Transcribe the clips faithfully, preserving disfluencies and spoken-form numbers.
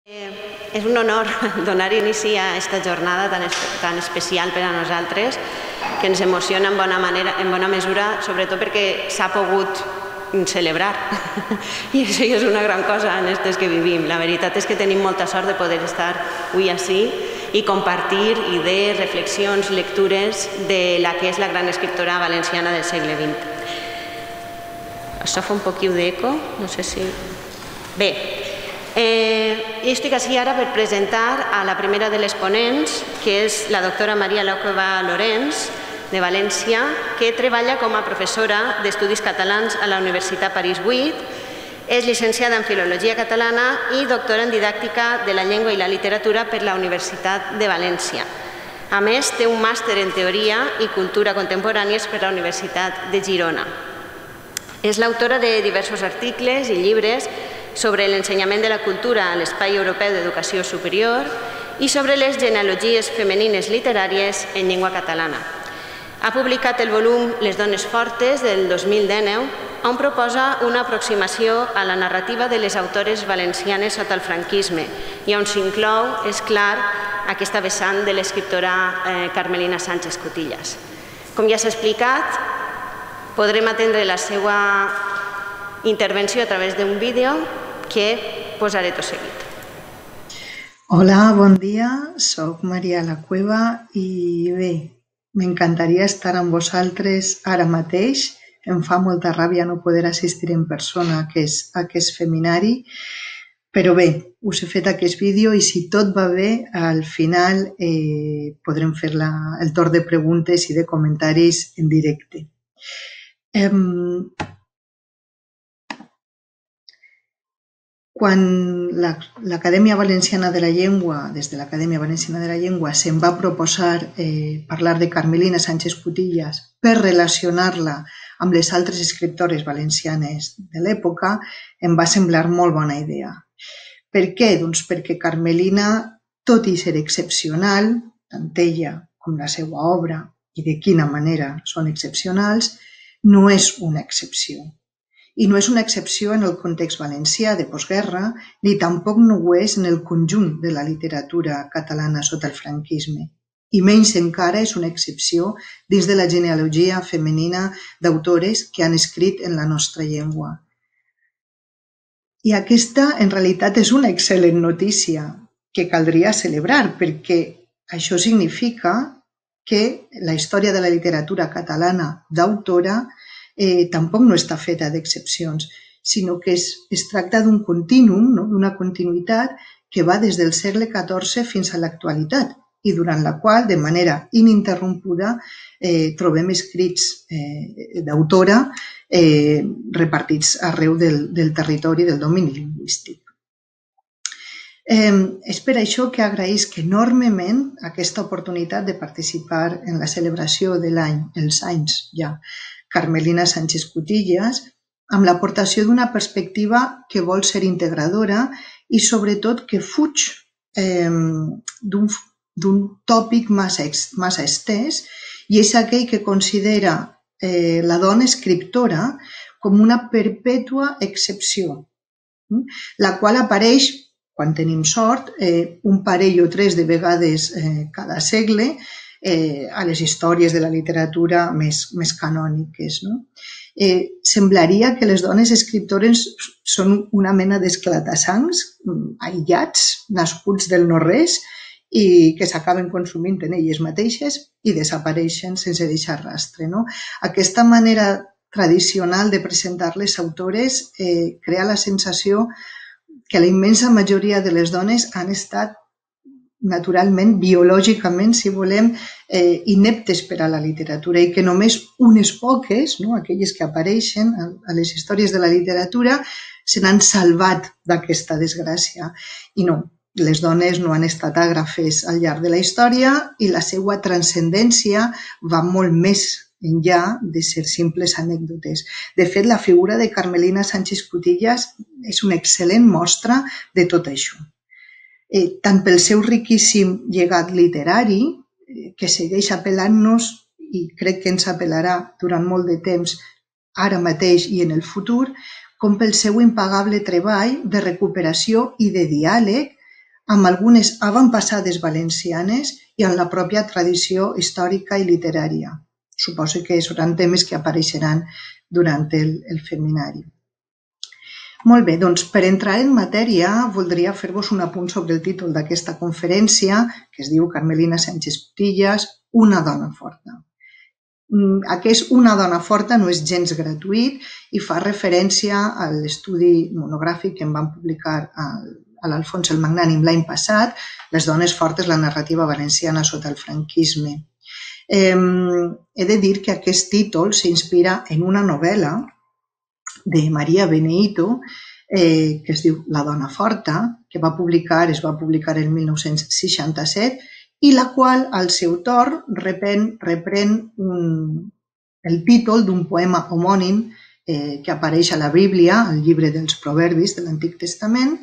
És un honor donar inici a aquesta jornada tan, tan especial per a nosaltres, que ens emociona en bona, manera, en bona mesura, sobretot perquè s'ha pogut celebrar. I això és una gran cosa en aquestes que vivim. La veritat és que tenim molta sort de poder estar avui així i compartir idees, reflexions, lectures de la que és la gran escriptora valenciana del segle vint. Això fa un poquiu d'eco, no sé si... Bé, eh, jo estic així ara per presentar a la primera de les ponents, que és la doctora Maria Lacueva Llorens, de València, que treballa com a professora d'Estudis Catalans a la Universitat París vuit, és llicenciada en Filologia Catalana i doctora en Didàctica de la Llengua i la Literatura per la Universitat de València. A més, té un màster en Teoria i Cultura Contemporànies per la Universitat de Girona. És l'autora de diversos articles i llibres sobre l'ensenyament de la cultura a l'Espai Europeu d'Educació Superior i sobre les genealogies femenines literàries en llengua catalana. Ha publicat el volum Les dones fortes del dos mil dinou, on proposa una aproximació a la narrativa de les autores valencianes sota el franquisme i on s'inclou, és clar, aquesta vessant de l'escriptora Carmelina Sánchez Cutillas. Com ja s'ha explicat, podrem atendre la seva intervenció a través d'un vídeo que posaré tot seguit. Hola, bon dia, soc Maria Lacueva i bé, m'encantaria estar amb vosaltres ara mateix. Em fa molta ràbia no poder assistir en persona a aquest feminari, però bé, us he fet aquest vídeo i si tot va bé, al final podrem fer el torn de preguntes i de comentaris en directe. Quan l'Acadèmia Valenciana de la Llengua, des de l'Acadèmia Valenciana de la Llengua, se'm va proposar parlar de Carmelina Sánchez Cutillas per relacionar-la amb les altres escriptores valencianes de l'època, em va semblar molt bona idea. Per què? Doncs perquè Carmelina, tot i ser excepcional, tant ella com la seva obra, i de quina manera són excepcionals, no és una excepció. I no és una excepció en el context valencià de postguerra, ni tampoc no ho és en el conjunt de la literatura catalana sota el franquisme. I menys encara és una excepció dins de la genealogia femenina d'autores que han escrit en la nostra llengua. I aquesta, en realitat, és una excel·lent notícia que caldria celebrar, perquè això significa que la història de la literatura catalana d'autora tampoc no està feta d'excepcions, sinó que es tracta d'un contínuum, d'una continuïtat que va des del segle catorze fins a l'actualitat i durant la qual, de manera ininterrompuda, trobem escrits d'autora repartits arreu del territori del domini lingüístic. És per això que agraïsc enormement aquesta oportunitat de participar en la celebració de l'any, els anys ja, Carmelina Sánchez Cutillas, amb l'aportació d'una perspectiva que vol ser integradora i sobretot que fuig d'un tòpic massa estès i és aquell que considera la dona escriptora com una perpètua excepció, la qual apareix, quan tenim sort, un parell o tres de vegades cada segle, a les històries de la literatura més canòniques. Semblaria que les dones escriptores són una mena d'esclata-sangs, aïllats, nascuts del no-res i que s'acaben consumint en elles mateixes i desapareixen sense deixar rastre. Aquesta manera tradicional de presentar les autores crea la sensació que la immensa majoria de les dones han estat naturalment, biològicament, si volem, ineptes per a la literatura i que només unes poques, aquelles que apareixen a les històries de la literatura, se n'han salvat d'aquesta desgràcia. I no, les dones no han estat àgrafes al llarg de la història i la seva transcendència va molt més enllà de ser simples anècdotes. De fet, la figura de Carmelina Sánchez Cutillas és una excel·lent mostra de tot això. Tant pel seu riquíssim llegat literari, que segueix apel·lant-nos i crec que ens apel·larà durant molt de temps, ara mateix i en el futur, com pel seu impagable treball de recuperació i de diàleg amb algunes avantpassades valencianes i amb la pròpia tradició històrica i literària. Suposo que seran temes que apareixeran durant el, el seminari. Molt bé, doncs per entrar en matèria voldria fer-vos un apunt sobre el títol d'aquesta conferència, que es diu Carmelina Sánchez Cutillas, una dona forta. Aquest una dona forta no és gens gratuït i fa referència a l'estudi monogràfic que em van publicar a l'Alfons el Magnànim l'any passat, Les dones fortes, la narrativa valenciana sota el franquisme. Eh, he de dir que aquest títol s'inspira en una novel·la de Maria Beneyto, eh, que es diu La dona forta, que va publicar, es va publicar el mil nou-cents seixanta-set, i la qual, al seu torn, reprèn, reprèn un, el títol d'un poema homònim eh, que apareix a la Bíblia, al llibre dels Proverbis de l'Antic Testament,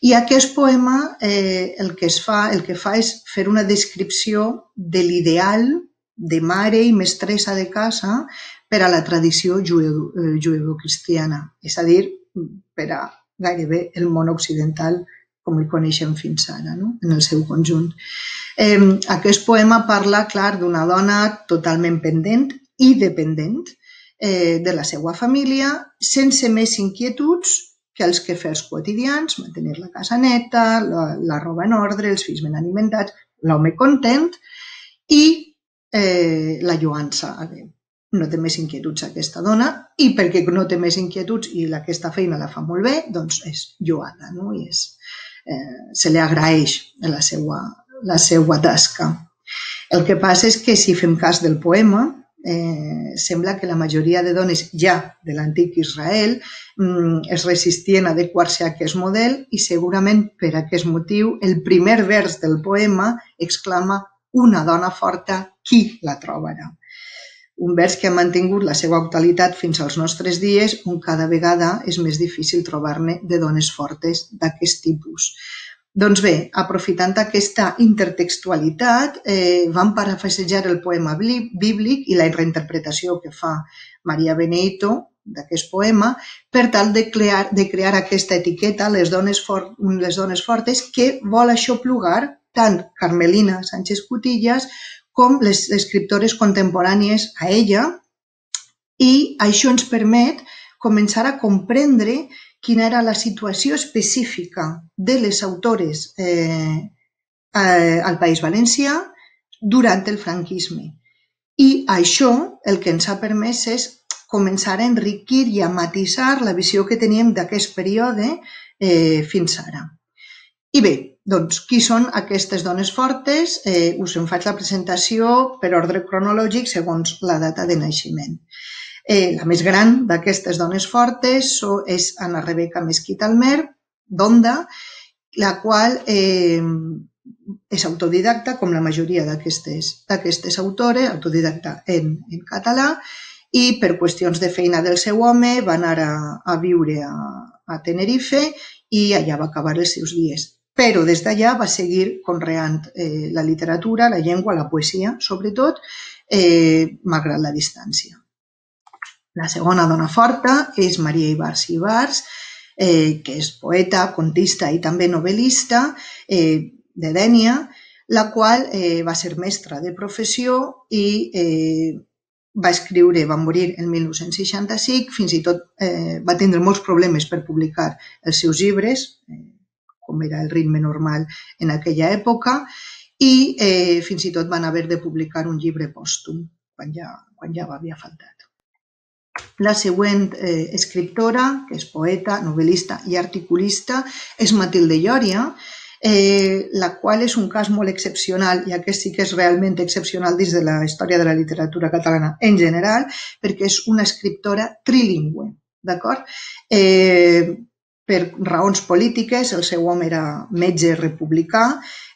i aquest poema eh, el que es fa, el que fa és fer una descripció de l'ideal de mare i mestressa de casa per a la tradició juevo-cristiana, és a dir, per a gairebé el món occidental com el coneixem fins ara, no? En el seu conjunt. Eh, aquest poema parla, clar, d'una dona totalment pendent i dependent eh, de la seva família, sense més inquietuds que els quefers quotidians, mantenir la casa neta, la, la roba en ordre, els fills ben alimentats, l'home content i eh, la lloança a Déu. No té més inquietuds aquesta dona i perquè no té més inquietuds i aquesta feina la fa molt bé, doncs és lloada, no? I és, eh, se li agraeix la seva, la seva tasca. El que passa és que si fem cas del poema, eh, sembla que la majoria de dones ja de l'antic Israel mm, es resistien a adequar-se a aquest model i segurament per aquest motiu el primer vers del poema exclama una dona forta, qui la trobarà? Un vers que ha mantingut la seva actualitat fins als nostres dies, on cada vegada és més difícil trobar-ne de dones fortes d'aquest tipus. Doncs bé, aprofitant aquesta intertextualitat, eh, vam parafrasejar el poema bíblic i la reinterpretació que fa Maria Beneyto d'aquest poema per tal de crear, de crear aquesta etiqueta, les dones, for, les dones fortes, que vol aixoplugar tant Carmelina Sánchez Cutillas com les escriptores contemporànies a ella, i això ens permet començar a comprendre quina era la situació específica de les autores eh, al País Valencià durant el franquisme. I això el que ens ha permès és començar a enriquir i a matisar la visió que teníem d'aquest període eh, fins ara. I bé, doncs, qui són aquestes dones fortes? Eh, us en faig la presentació per ordre cronològic segons la data de naixement. Eh, la més gran d'aquestes dones fortes és Anna Rebeca Mesquita Almer, d'Onda, la qual eh, és autodidacta, com la majoria d'aquestes autores, autodidacta en, en català, i per qüestions de feina del seu home va anar a, a viure a, a Tenerife i allà va acabar els seus dies. Però des d'allà va seguir conreant eh, la literatura, la llengua, la poesia, sobretot, eh, malgrat la distància. La segona dona forta és Maria Ibars i Ibars, eh, que és poeta, contista i també novel·lista eh, de Dénia, la qual eh, va ser mestra de professió i eh, va escriure, va morir el mil nou-cents seixanta-cinc, fins i tot eh, va tindre molts problemes per publicar els seus llibres, eh, com era el ritme normal en aquella època, i eh, fins i tot van haver de publicar un llibre pòstum, quan ja, quan ja havia faltat. La següent eh, escriptora, que és poeta, novel·lista i articulista, és Matilde Lloria, eh, la qual és un cas molt excepcional, i aquest sí que és realment excepcional dins de la història de la literatura catalana en general, perquè és una escriptora trilingüe, d'acord? Eh, per raons polítiques, el seu home era metge republicà,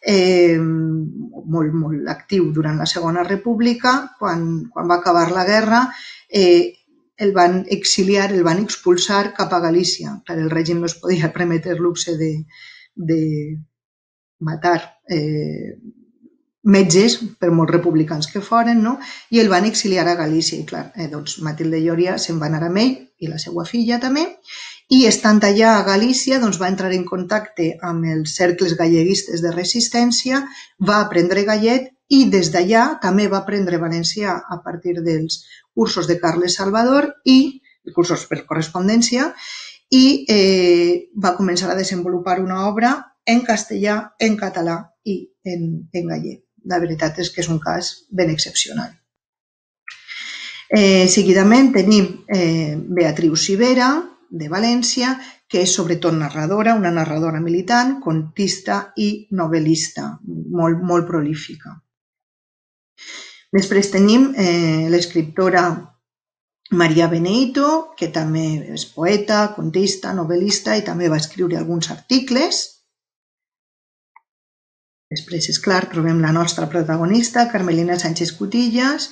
eh, molt, molt actiu durant la Segona República. Quan, quan va acabar la guerra, eh, el van exiliar, el van expulsar cap a Galícia. Clar, el règim no es podia permetre el luxe de, de matar eh, metges, per molts republicans que foren, no? I el van exiliar a Galícia. I clar, eh, doncs Matilde Lloria se'n va anar amb ell i la seva filla també, i estant allà a Galícia doncs, va entrar en contacte amb els cercles galleguistes de resistència, va aprendre gallec i des d'allà també va aprendre valencià a partir dels cursos de Carles Salvador i cursos per correspondència i eh, va començar a desenvolupar una obra en castellà, en català i en, en gallec. La veritat és que és un cas ben excepcional. Eh, seguidament tenim eh, Beatriu Civera, de València, que és sobretot narradora, una narradora militant, contista i novel·lista, molt, molt prolífica. Després tenim eh, l'escriptora Maria Benito, que també és poeta, contista, novel·lista i també va escriure alguns articles. Després, és clar, trobem la nostra protagonista, Carmelina Sánchez Cutillas,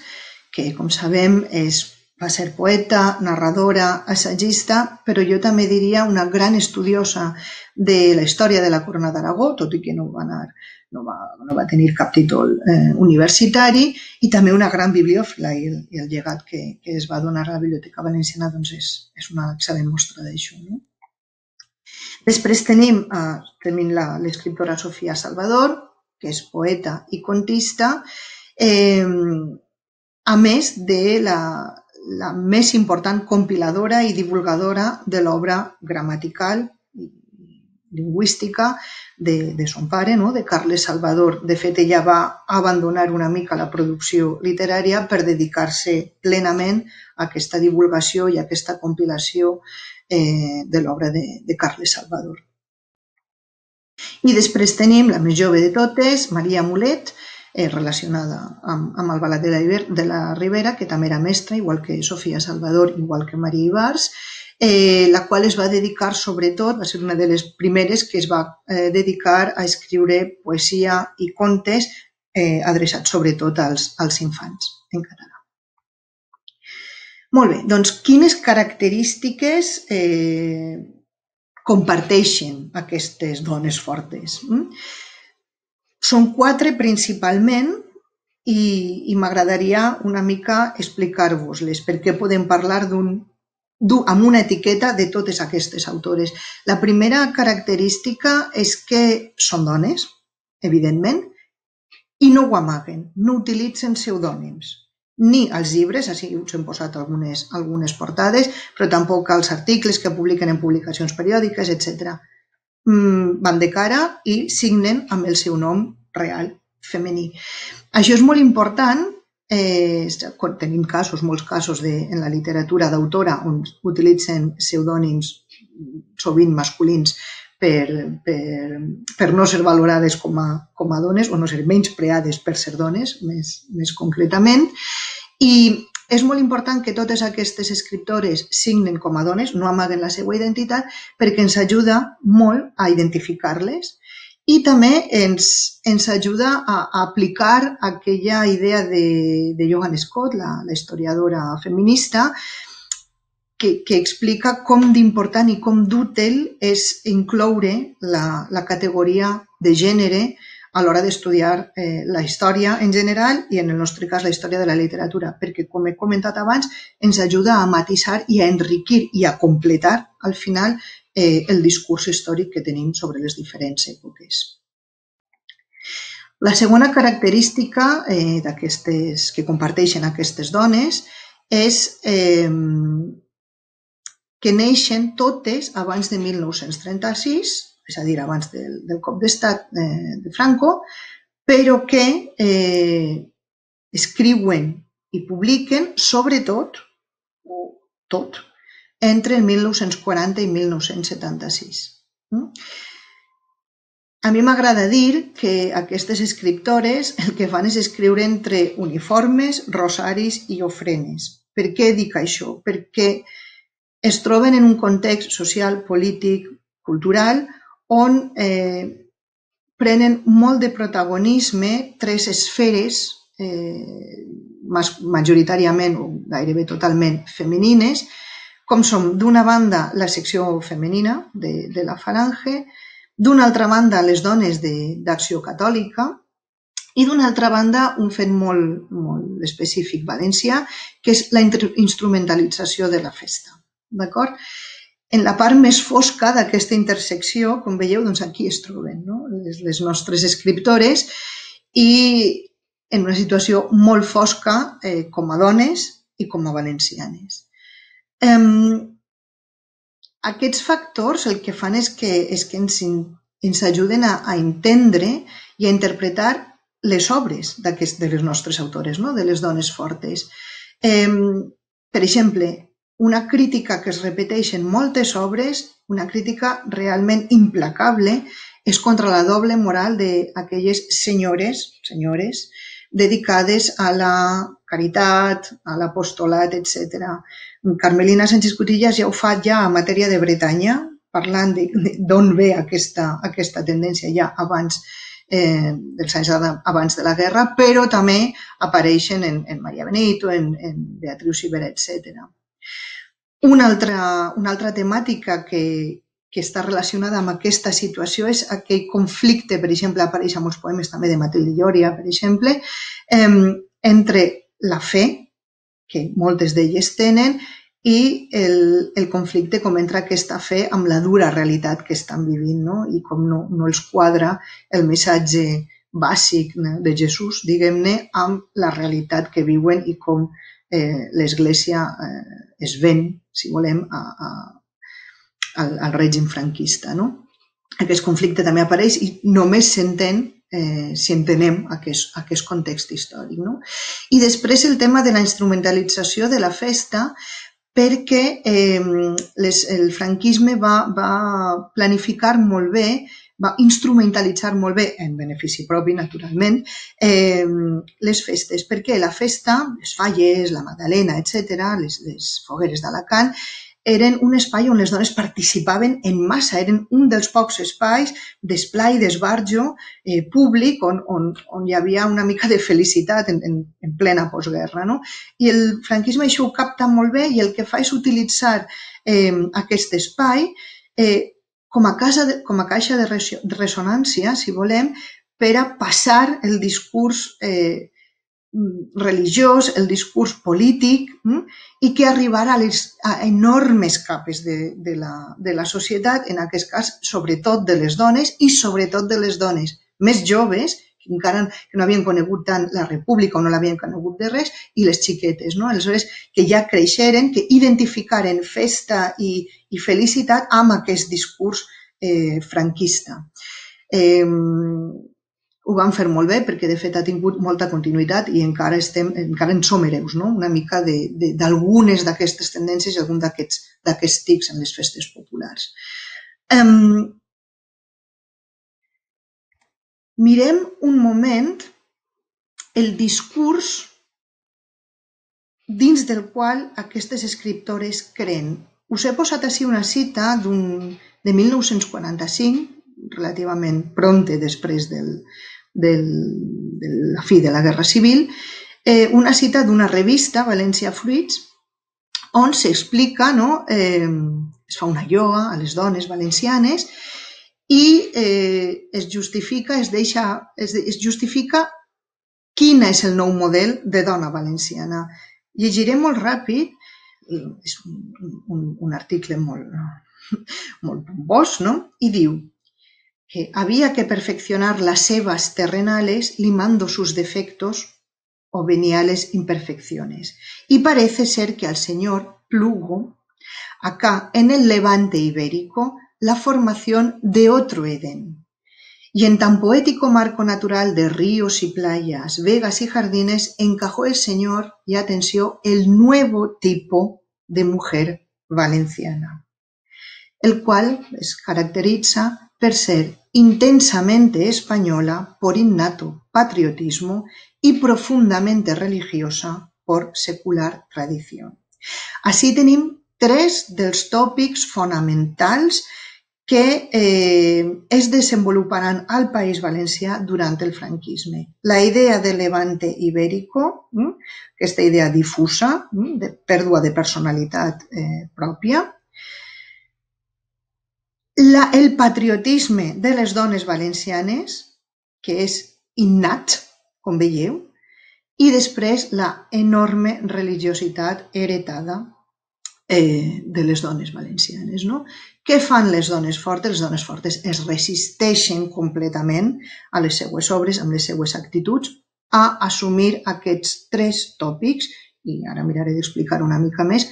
que, com sabem, és, va ser poeta, narradora, assagista, però jo també diria una gran estudiosa de la història de la Corona d'Aragó, tot i que no va, anar, no va, no va tenir cap títol eh, universitari, i també una gran bibliòfila, i el, i el llegat que, que es va donar a la Biblioteca Valenciana doncs és, és una excel·lent mostra d'això, no? Després tenim, eh, tenim l'escriptora Sofia Salvador, que és poeta i contista, eh, a més de la, la més important compiladora i divulgadora de l'obra gramatical i lingüística de, de son pare, no? De Carles Salvador. De fet, ella va abandonar una mica la producció literària per dedicar-se plenament a aquesta divulgació i a aquesta compilació eh, de l'obra de, de Carles Salvador. I després tenim la més jove de totes, Maria Mulet, eh, relacionada amb, amb el Balat de la, de la Ribera, que també era mestra, igual que Sofia Salvador, igual que Maria Ibars, eh, la qual es va dedicar sobretot, va ser una de les primeres que es va eh, dedicar a escriure poesia i contes eh, adreçats sobretot als, als infants en català. Molt bé, doncs quines característiques eh, comparteixen aquestes dones fortes? Són quatre principalment i, i m'agradaria una mica explicar-vos-les perquè podem parlar d'un, amb una etiqueta de totes aquestes autores. La primera característica és que són dones, evidentment, i no ho amaguen, no utilitzen pseudònims. Ni als llibres, així us hem posat algunes, algunes portades, però tampoc als articles que publiquen en publicacions periòdiques, etcètera. Van de cara i signen amb el seu nom real, femení. Això és molt important, eh, tenim casos, molts casos de, en la literatura d'autora on utilitzen pseudònims sovint masculins per, per, per no ser valorades com a, com a dones o no ser menyspreades per ser dones, més, més concretament. I és molt important que totes aquestes escriptores signen com a dones, no amaguen la seva identitat, perquè ens ajuda molt a identificar-les i també ens, ens ajuda a, a aplicar aquella idea de, de Joan Scott, la, la historiadora feminista, que, que explica com d'important i com d'útil és incloure la, la categoria de gènere a l'hora d'estudiar eh, la història en general i en el nostre cas la història de la literatura, perquè com he comentat abans ens ajuda a matisar i a enriquir i a completar al final eh, el discurs històric que tenim sobre les diferents èpoques. La segona característica eh, d'aquestes que comparteixen aquestes dones és eh, que neixen totes abans de mil nou-cents trenta-sis, és a dir, abans del, del cop d'estat eh, de Franco, però que eh, escriuen i publiquen sobretot, o tot, entre el mil nou-cents quaranta i mil nou-cents setanta-sis. A mi m'agrada dir que aquestes escriptores el que fan és escriure entre uniformes, rosaris i ofrenes. Per què dic això? Perquè es troben en un context social, polític, cultural, on eh, prenen molt de protagonisme tres esferes eh, majoritàriament o gairebé totalment femenines, com són d'una banda la secció femenina de, de la Falange, d'una altra banda les dones d'Acció Catòlica i d'una altra banda un fet molt, molt específic valencià, que és la instrumentalització de la festa. D'acord? en la part més fosca d'aquesta intersecció, com veieu, doncs aquí es troben, no? les, les nostres escriptores, i en una situació molt fosca eh, com a dones i com a valencianes. Eh, aquests factors el que fan és que, és que ens, ens ajuden a, a entendre i a interpretar les obres de les nostres autores, no? De les dones fortes. Eh, per exemple, una crítica que es repeteix en moltes obres, una crítica realment implacable, és contra la doble moral d'aquelles senyores, senyores dedicades a la caritat, a l'apostolat, etcètera. Carmelina Sánchez Cutillas ja ho fa ja en matèria de Bretanya, parlant d'on ve aquesta, aquesta tendència ja abans eh, dels anys abans de la guerra, però també apareixen en, en Maria Benito, en, en Beatriu Sibera, etcètera. Una altra, una altra temàtica que, que està relacionada amb aquesta situació és aquell conflicte, per exemple, apareix en molts poemes també de Matilde Lloria, per exemple, eh, entre la fe, que moltes d'elles tenen, i el, el conflicte com entra aquesta fe amb la dura realitat que estan vivint, no? I com no, no els quadra el missatge bàsic de Jesús, diguem-ne, amb la realitat que viuen i com eh, l'Església eh, es ven, si volem, a, a, al, al règim franquista, no? Aquest conflicte també apareix i només s'entén eh, si entenem aquest, aquest context històric, no? I després el tema de la instrumentalització de la festa, perquè eh, les, el franquisme va, va planificar molt bé, va instrumentalitzar molt bé, en benefici propi, naturalment, eh, les festes, perquè la festa, les falles, la Magdalena, etcètera, les, les fogueres d'Alacant, eren un espai on les dones participaven en massa, eren un dels pocs espais d'esplai, d'esbarjo eh, públic on, on, on hi havia una mica de felicitat en, en, en plena postguerra, no? I el franquisme això ho capta molt bé i el que fa és utilitzar eh, aquest espai eh, com a, casa de, com a caixa de ressonància, si volem, per a passar el discurs eh, religiós, el discurs polític, hm? I que arribarà a, les, a enormes capes de, de, la, de la societat, en aquest cas, sobretot de les dones i sobretot de les dones més joves, que encara que no havien conegut tant la república o no l'havien conegut de res, i les xiquetes, no? Aleshores, que ja creixeren, que identificaren festa i, i felicitat amb aquest discurs eh, franquista. Eh, Ho van fer molt bé perquè, de fet, ha tingut molta continuïtat i encara, estem, encara en som hereus, no? Una mica d'algunes d'aquestes tendències i algun d'aquests tics en les festes populars. Um, mirem un moment el discurs dins del qual aquestes escriptores creen. Us he posat així una cita de mil nou-cents quaranta-cinc, relativament prompte després del, del, de la fi de la Guerra Civil, eh, una cita d'una revista, Valencia Fruits, on s'explica, no, eh, es fa una lloa a les dones valencianes i eh, es justifica, es deixa, es, es justifica quin és el nou model de dona valenciana. Llegiré molt ràpid, és un, un, un article molt, molt pompós, no? I diu que había que perfeccionar las sebas terrenales limando sus defectos o veniales imperfecciones. Y parece ser que al señor plugo, acá en el levante ibérico, la formación de otro Edén. Y en tan poético marco natural de ríos y playas, vegas y jardines, encajó el señor, y atención, el nuevo tipo de mujer valenciana, el cual les caracteriza per ser intensamente española por innato patriotismo y profundamente religiosa por secular tradición. Així tenim tres dels tòpics fonamentals que eh, es desenvoluparan al País Valencià durant el franquisme. La idea de levante ibérico, hm? Aquesta idea difusa, hm? de pèrdua de personalitat eh, pròpia, La, el patriotisme de les dones valencianes, que és innat, com veieu, i després la enorme religiositat heretada de les dones valencianes. Què fan les dones fortes? Les dones fortes es resisteixen completament a les seues obres, amb les seues actituds, a assumir aquests tres tòpics, i ara miraré d'explicar una mica més.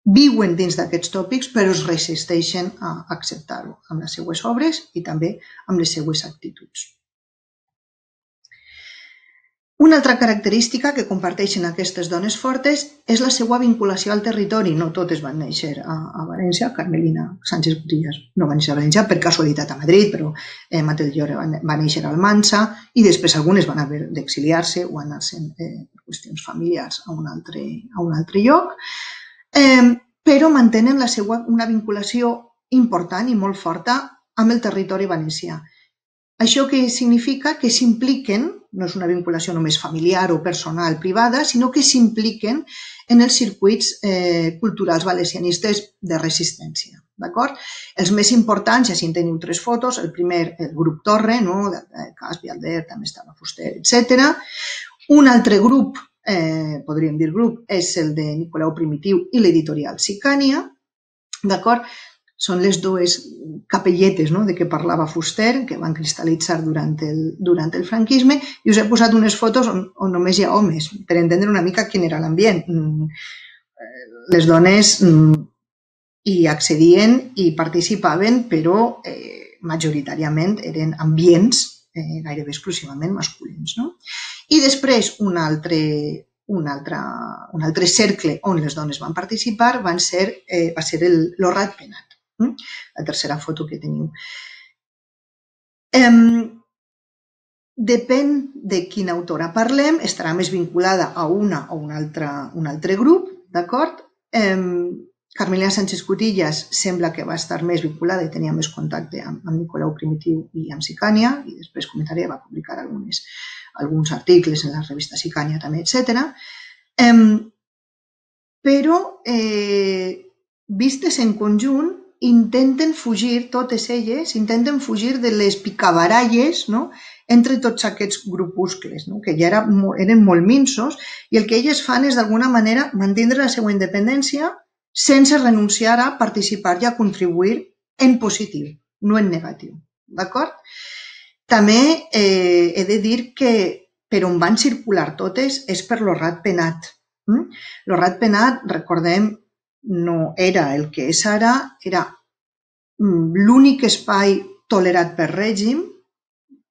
Viuen dins d'aquests tòpics, però es resisteixen a acceptar-ho amb les seues obres i també amb les seues actituds. Una altra característica que comparteixen aquestes dones fortes és la seva vinculació al territori. No totes van néixer a València. Carmelina Sánchez Cutillas no va néixer a València, per casualitat a Madrid, però Matilde Llore va néixer a Almansa i després algunes van haver d'exiliar-se o anar-se'n per qüestions familiars a un altre lloc, però mantenen una vinculació important i molt forta amb el territori valencià. Això què significa? Que s'impliquen, no és una vinculació només familiar o personal, privada, sinó que s'impliquen en els circuits culturals valencianistes de resistència. Els més importants, ja si en teniu tres fotos, el primer, el grup Torre, Cas, Vialder, també estava Fuster, etcètera. Un altre grup, podríem dir grup, és el de Nicolau Primitiu i l'editorial Sicània, d'acord? Són les dues capelletes de què parlava Fuster, que van cristal·litzar durant el franquisme, i us he posat unes fotos on només hi ha homes, per entendre una mica quin era l'ambient. Les dones hi accedien i participaven, però majoritàriament eren ambients gairebé exclusivament masculins. I després un altre un altre cercle on les dones van participar va ser el Ratpenat. La tercera foto que teniu. Depèn de quina autora parlem, estarà més vinculada a una o un altre grup, d'acord? Carmelina Sánchez Cutillas sembla que va estar més vinculada i tenia més contacte amb Nicolau Primitiu i amb Sicània, i després comentaré, va publicar alguns articles en la revista Sicània també, etcètera. Però, vistes en conjunt, intenten fugir, totes elles, intenten fugir de les picabaralles entre tots aquests grupuscles, que ja eren molt minsos, i el que elles fan és, d'alguna manera, mantenir la seva independència sense renunciar a participar i a contribuir en positiu, no en negatiu. D'acord? També he de dir que per on van circular totes és per lo Ratpenat. Lo Ratpenat, recordem, no era el que és ara, era l'únic espai tolerat per règim,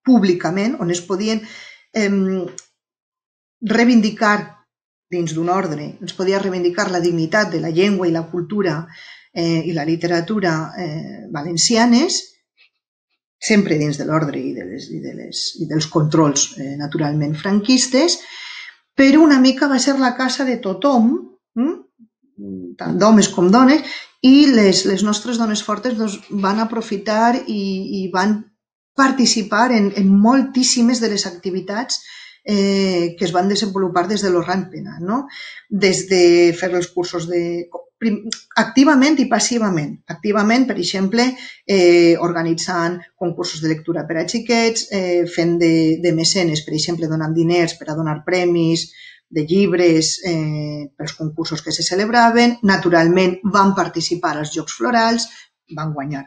públicament, on es podien reivindicar dins d'un ordre, es podia reivindicar la dignitat de la llengua i la cultura i la literatura valencianes, sempre dins de l'ordre i dels controls naturalment franquistes, però una mica va ser la casa de tothom, tant d'homes com dones, i les nostres dones fortes van aprofitar i van participar en moltíssimes de les activitats que es van desenvolupar des de lo Ratpenat, des de fer els cursos activament i passivament. Activament, per exemple, organitzant concursos de lectura per a xiquets, fent de mecenes, per exemple, donant diners per a donar premis de llibres pels concursos que se celebraven. Naturalment, van participar als Jocs Florals, van guanyar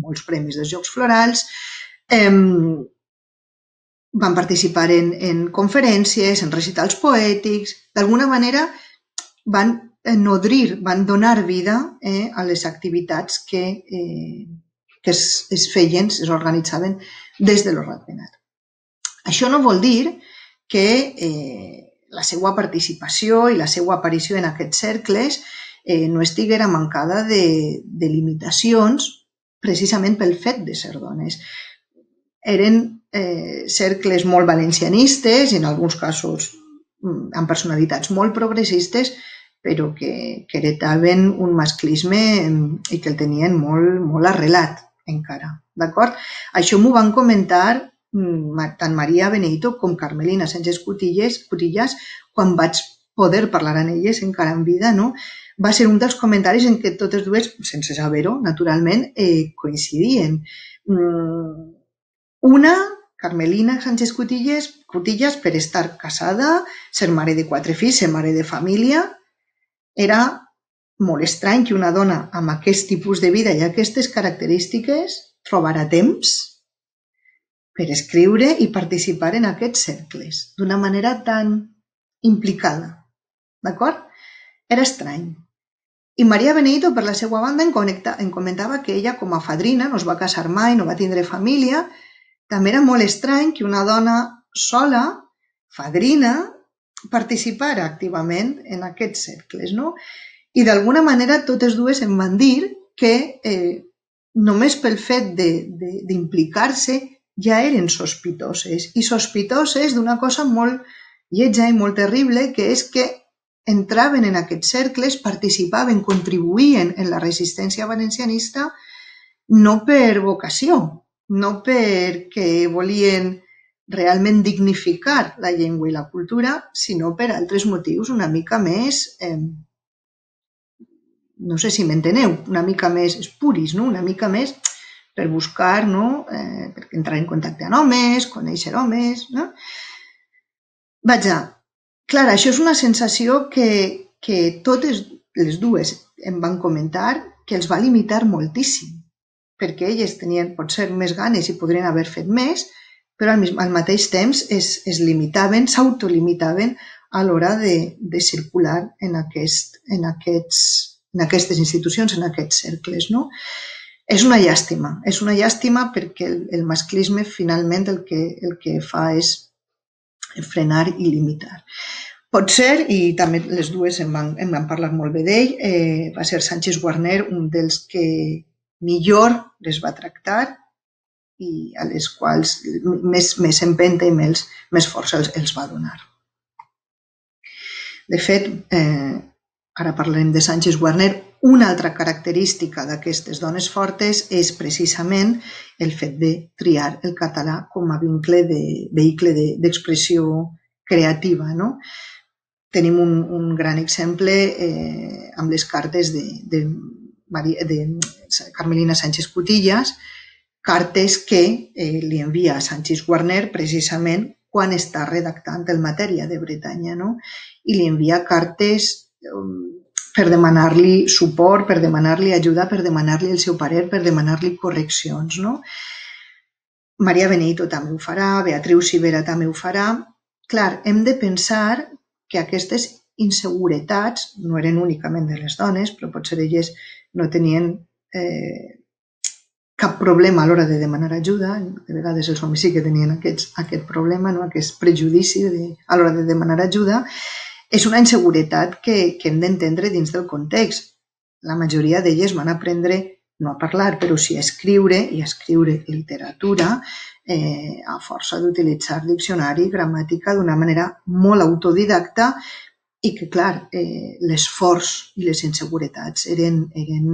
molts premis dels Jocs Florals, van participar en conferències, en recitals poètics, d'alguna manera van nodrir, van donar vida a les activitats que es feien, es organitzaven des de lo Ratpenat. Això no vol dir que la seva participació i la seva aparició en aquests cercles no estiguera mancada de limitacions precisament pel fet de ser dones. Eren cercles molt valencianistes i en alguns casos amb personalitats molt progressistes, però que heretaven un masclisme i que el tenien molt arrelat encara. Això m'ho van comentar tant Maria Benedito com Carmelina Sánchez Cutillas quan vaig poder parlar amb elles encara en vida. Va ser un dels comentaris en què totes dues, sense saber-ho, naturalment, coincidien. Una, Carmelina Sánchez Cutillas, per estar casada, ser mare de quatre fills, ser mare de família, era molt estrany que una dona amb aquest tipus de vida i aquestes característiques trobarà temps per escriure i participar en aquests cercles d'una manera tan implicada. D'acord? Era estrany. I Maria Benedito, per la seva banda, em comentava que ella, com a fadrina, no es va casar mai, no va tindre família. També era molt estrany que una dona sola, fadrina, participara activament en aquests cercles, no? I d'alguna manera totes dues em van dir que eh, només pel fet d'implicar-se ja eren sospitoses, i sospitoses d'una cosa molt lletja i molt terrible, que és que entraven en aquests cercles, participaven, contribuïen en la resistència valencianista no per vocació, no perquè volien realment dignificar la llengua i la cultura, sinó per altres motius una mica més, eh, no sé si m'enteneu, una mica més espuris, no? Una mica més per buscar, no? eh, per entrar en contacte amb homes, conèixer homes, no? Vaja, clar, això és una sensació que, que totes les dues em van comentar que els va limitar moltíssim, perquè elles tenien potser més ganes i podrien haver fet més, però al, al mateix temps es, es limitaven, s'autolimitaven a l'hora de, de circular en, aquest, en, aquests, en aquestes institucions, en aquests cercles, no? És una llàstima, és una llàstima perquè el, el masclisme finalment el que, el que fa és frenar i limitar. Pot ser, i també les dues em van, em van parlar molt bé d'ell, eh, va ser Sánchez Guarner un dels que millor les va tractar i a les quals més, més empenta i més, més força els, els va donar. De fet, eh, ara parlarem de Sánchez Guarner, una altra característica d'aquestes dones fortes és precisament el fet de triar el català com a vincle de, vehicle d'expressió creativa, no? Tenim un, un gran exemple eh, amb les cartes de, de, Maria, de Carmelina Sánchez Cutillas, cartes que eh, li envia a Sánchez Guarner precisament quan està redactant el Matèria de Bretanya, no? I li envia cartes eh, per demanar-li suport, per demanar-li ajuda, per demanar-li el seu parer, per demanar-li correccions, no? Maria Benedito també ho farà, Beatriu Civera també ho farà. Clar, hem de pensar que aquestes inseguretats no eren únicament de les dones, però potser elles no tenien eh, cap problema a l'hora de demanar ajuda. De vegades els homes sí que tenien aquests, aquest problema, no? Aquest prejudici de, a l'hora de demanar ajuda. És una inseguretat que, que hem d'entendre dins del context. La majoria d'elles van aprendre no a parlar, però sí a escriure i a escriure literatura eh, a força d'utilitzar diccionari i gramàtica d'una manera molt autodidacta i que, clar, eh, l'esforç i les inseguretats eren, eren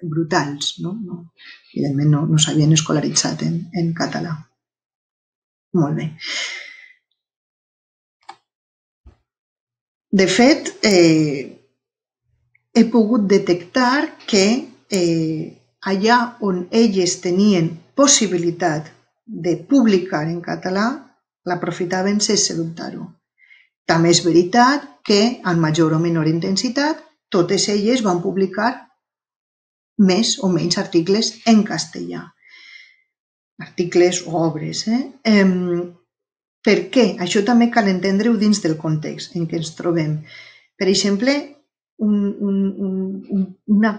brutals, no? No, evidentment no, no s'havien escolaritzat en, en català. Molt bé. De fet, eh, he pogut detectar que eh, allà on elles tenien possibilitat de publicar en català, l'aprofitaven sense dubtar-ho. També és veritat que, en major o menor intensitat, totes elles van publicar més o menys articles en castellà. Articles o obres, eh? eh Per què? Això també cal entendre-ho dins del context en què ens trobem. Per exemple, un, un, un, una,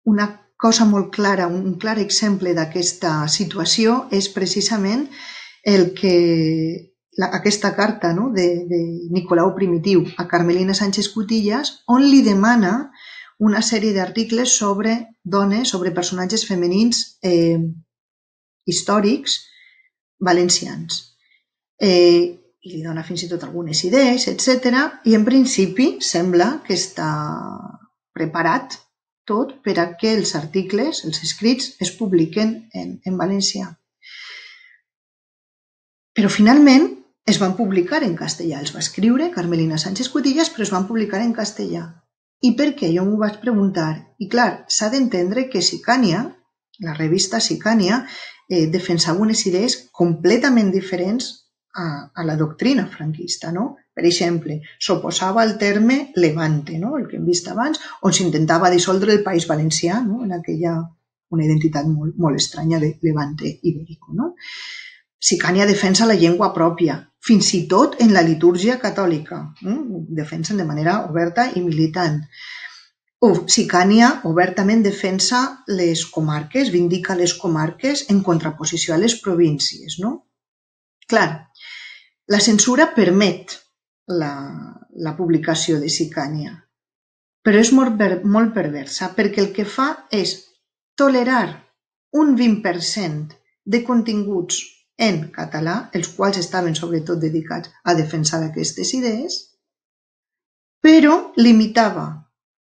una cosa molt clara, un clar exemple d'aquesta situació és precisament el que, la, aquesta carta, no? de, de Nicolau Primitiu a Carmelina Sánchez Cutillas, on li demana una sèrie d'articles sobre dones, sobre personatges femenins eh, històrics valencians. Eh, i li dona fins i tot algunes idees, etcètera. I en principi sembla que està preparat tot per a que els articles, els escrits, es publiquen en, en valencià. Però finalment es van publicar en castellà. Els va escriure Carmelina Sánchez Cutillas, però es van publicar en castellà. I per què? Jo m'ho vaig preguntar. I clar, s'ha d'entendre que Sicània, la revista Sicània, eh, defensava unes idees completament diferents A, a la doctrina franquista, no? Per exemple, s'oposava al terme Levante, no? El que hem vist abans, on s'intentava dissoldre el País Valencià, no? En aquella una identitat molt, molt estranya de Levante ibérico. No? Sicània defensa la llengua pròpia, fins i tot en la litúrgia catòlica. No? Defensen de manera oberta i militant. Sicània obertament defensa les comarques, vindica les comarques en contraposició a les províncies. No? Clar, la censura permet la, la publicació de Sicània, però és molt, molt perversa perquè el que fa és tolerar un vint per cent de continguts en català, els quals estaven sobretot dedicats a defensar aquestes idees, però limitava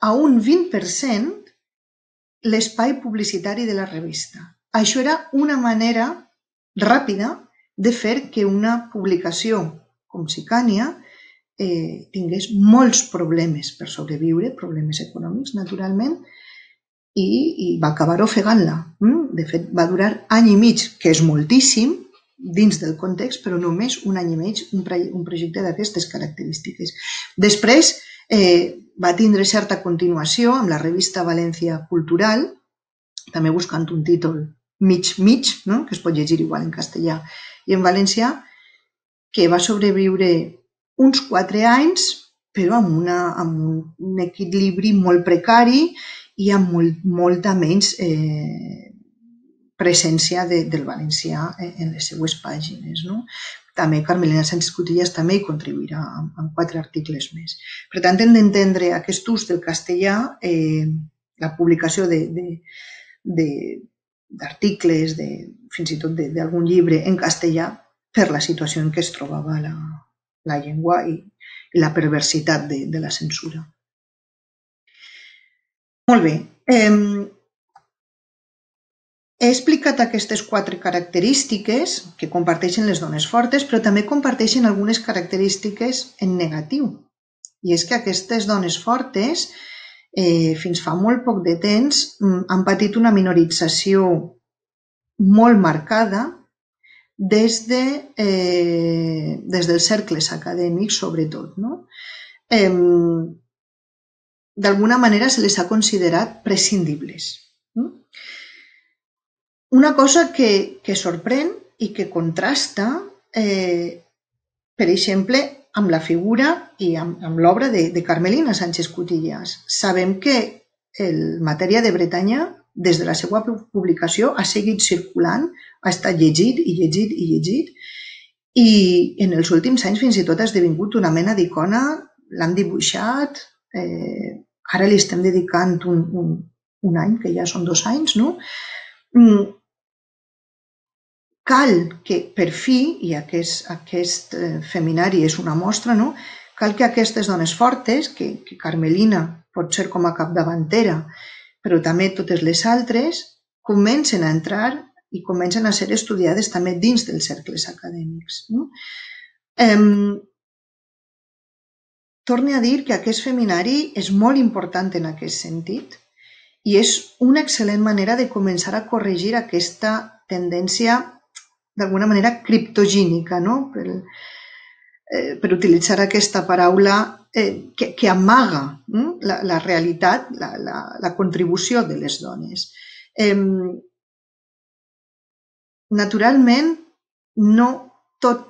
a un vint per cent l'espai publicitari de la revista. Això era una manera ràpida de fer que una publicació com Sicània eh, tingués molts problemes per sobreviure, problemes econòmics, naturalment, i, i va acabar ofegant-la. De fet, va durar any i mig, que és moltíssim dins del context, però només un any i mig un, un projecte d'aquestes característiques. Després eh, va tindre certa continuació amb la revista València Cultural, també buscant un títol mig-mig, no? Que es pot llegir igual en castellà i en valencià, que va sobreviure uns quatre anys, però amb, una, amb un equilibri molt precari i amb molt, molta menys eh, presència de, del valencià en les seues pàgines. No? També Carmelina Sánchez Cutillas també hi contribuirà amb, amb quatre articles més. Per tant, hem d'entendre aquest ús del castellà, eh, la publicació de, de, de, d'articles, de, fins i tot d'algun llibre en castellà, per la situació en què es trobava la, la llengua i, i la perversitat de, de la censura. Molt bé. Eh, he explicat aquestes quatre característiques que comparteixen les dones fortes, però també comparteixen algunes característiques en negatiu. I és que aquestes dones fortes, eh, fins fa molt poc de temps, han patit una minorització molt marcada des, de, eh, des dels cercles acadèmics, sobretot. No? Eh, D'alguna manera se les ha considerat prescindibles. No? Una cosa que, que sorprèn i que contrasta, eh, per exemple, amb la figura i amb, amb l'obra de, de Carmelina Sánchez Cutillas. Sabem que el Matèria de Bretanya, des de la seva publicació, ha seguit circulant, ha estat llegit i llegit i llegit, i en els últims anys fins i tot ha esdevingut una mena d'icona, l'han dibuixat, eh, ara li estem dedicant un, un, un any, que ja són dos anys, no? Cal que, per fi, i aquest, aquest feminari és una mostra, no? Cal que aquestes dones fortes, que, que Carmelina pot ser com a capdavantera, però també totes les altres, comencen a entrar i comencen a ser estudiades també dins dels cercles acadèmics. No? Eh, torne a dir que aquest feminari és molt important en aquest sentit i és una excel·lent manera de començar a corregir aquesta tendència d'alguna manera criptogínica, no? per, eh, per utilitzar aquesta paraula eh, que, que amaga no? la, la realitat, la, la, la contribució de les dones. Eh, naturalment, no tot,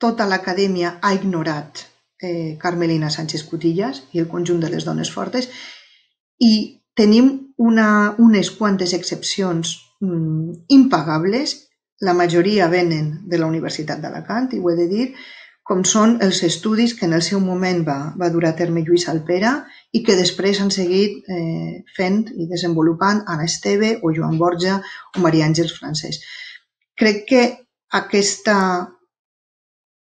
tota l'acadèmia ha ignorat eh, Carmelina Sánchez Cutillas i el conjunt de les dones fortes i tenim una, unes quantes excepcions mm, impagables. La majoria venen de la Universitat d'Alacant, i ho he de dir, com són els estudis que en el seu moment va, va dur a terme Lluís Alpera i que després han seguit eh, fent i desenvolupant Anna Esteve o Joan Borja o Maria Àngels Francès. Crec que aquesta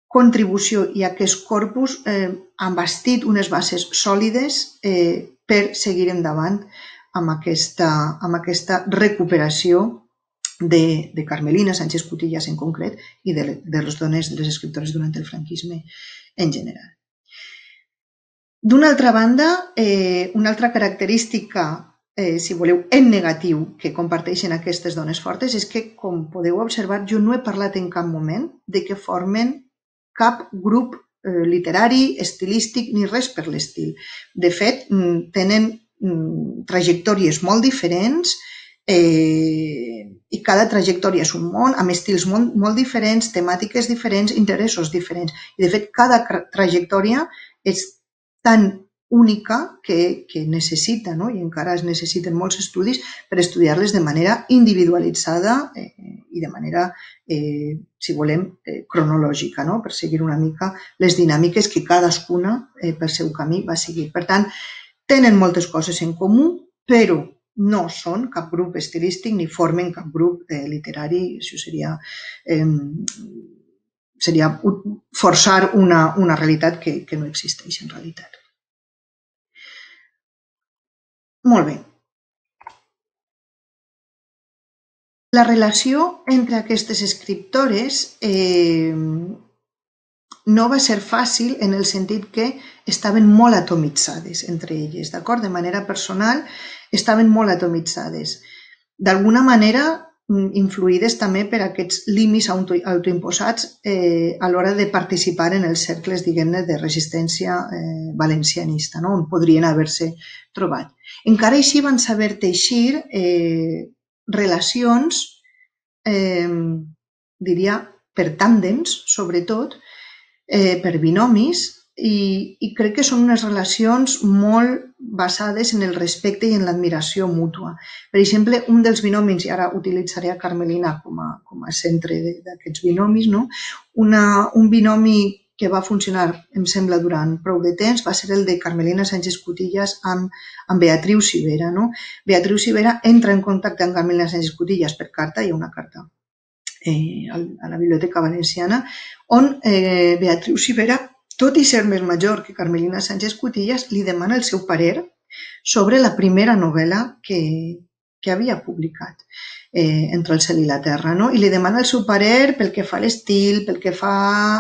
contribució i aquest corpus eh, han bastit unes bases sòlides eh, per seguir endavant amb aquesta, amb aquesta recuperació De, de Carmelina Sánchez Cutillas en concret i de, de les dones, de les escriptores durant el franquisme en general. D'una altra banda, eh, una altra característica, eh, si voleu, en negatiu que comparteixen aquestes dones fortes és que, com podeu observar, jo no he parlat en cap moment de que formen cap grup eh, literari, estilístic, ni res per l'estil. De fet, tenen mm, trajectòries molt diferents eh, i cada trajectòria és un món, amb estils molt, molt diferents, temàtiques diferents, interessos diferents. I, de fet, cada trajectòria és tan única que, que necessita, no? I encara es necessiten molts estudis per estudiar-les de manera individualitzada eh, i de manera, eh, si volem, eh, cronològica, no? Per seguir una mica les dinàmiques que cadascuna eh, pel seu camí va seguir. Per tant, tenen moltes coses en comú, però no són cap grup estilístic ni formen cap grup eh, literari. Això seria, eh, seria forçar una, una realitat que, que no existeix en realitat. Molt bé. La relació entre aquestes escriptores eh, no va ser fàcil en el sentit que estaven molt atomitzades entre elles, d'acord? De manera personal estaven molt atomitzades. D'alguna manera influïdes també per aquests límits autoimposats eh, a l'hora de participar en els cercles, diguem-ne, de resistència eh, valencianista, no? On podrien haver-se trobat. Encara així van saber teixir eh, relacions, eh, diria, per tàndems, sobretot, eh, per binomis, i, i crec que són unes relacions molt basades en el respecte i en l'admiració mútua. Per exemple, un dels binomis, i ara utilitzaré a Carmelina com a, com a centre d'aquests binomis, no? Una, un binomi que va funcionar, em sembla, durant prou de temps, va ser el de Carmelina Sánchez Cutillas amb, amb Beatriu Civera. No? Beatriu Civera entra en contacte amb Carmelina Sánchez Cutillas per carta, hi ha una carta eh, a la Biblioteca Valenciana, on eh, Beatriu Civera, tot i ser més major que Carmelina Sánchez Cutillas, li demana el seu parer sobre la primera novel·la que, que havia publicat, eh, Entre el cel i la terra, no? I li demana el seu parer pel que fa a l'estil, pel que fa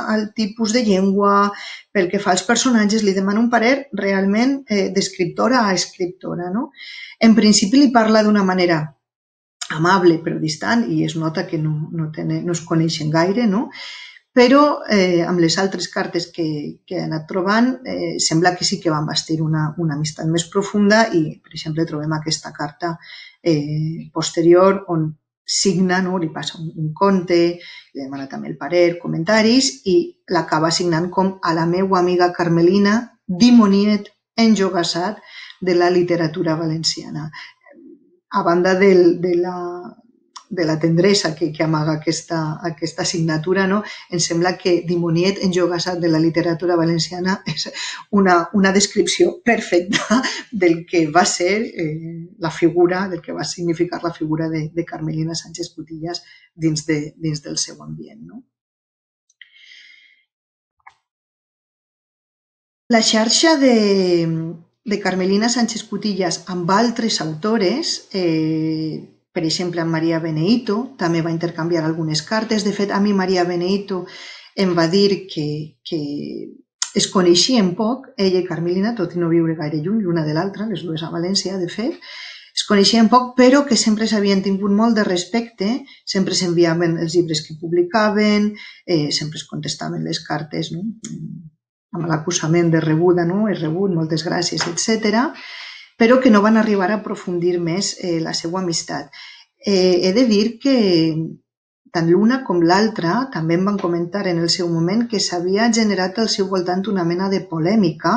al tipus de llengua, pel que fa als personatges, li demana un parer realment eh, d'escriptora a escriptora, no? En principi li parla d'una manera amable però distant i es nota que no, no, tenen, no es coneixen gaire, no? Però eh, amb les altres cartes que, que he anat trobant eh, sembla que sí que van bastir una, una amistat més profunda i, per exemple, trobem aquesta carta eh, posterior on signa, no? Li passa un, un conte, li demana també el parer, comentaris i l'acaba signant com a la meua amiga Carmelina, dimoniet enjogassat de la literatura valenciana. A banda del, de la... de la tendresa que, que amaga aquesta, aquesta signatura, no? Em sembla que dimoniet enjogassat de la literatura valenciana és una, una descripció perfecta del que va ser eh, la figura, del que va significar la figura de, de Carmelina Sánchez Cutillas dins, de, dins del seu ambient, no? La xarxa de, de Carmelina Sánchez Cutillas amb altres autores, eh, per exemple, amb Maria Beneito, també va intercanviar algunes cartes. De fet, a mi Maria Beneito em va dir que, que es coneixien poc, ella i Carmelina, tot i no viure gaire lluny l'una de l'altra, les dues a València, de fet, es coneixien poc, però que sempre s'havien tingut molt de respecte, sempre s'enviaven els llibres que publicaven, eh, sempre es contestaven les cartes, no? Amb l'acusament de rebuda, no? És rebut, moltes gràcies, etcètera, però que no van arribar a aprofundir més eh, la seva amistat. Eh, he de dir que tant l'una com l'altra també em van comentar en el seu moment que s'havia generat al seu voltant una mena de polèmica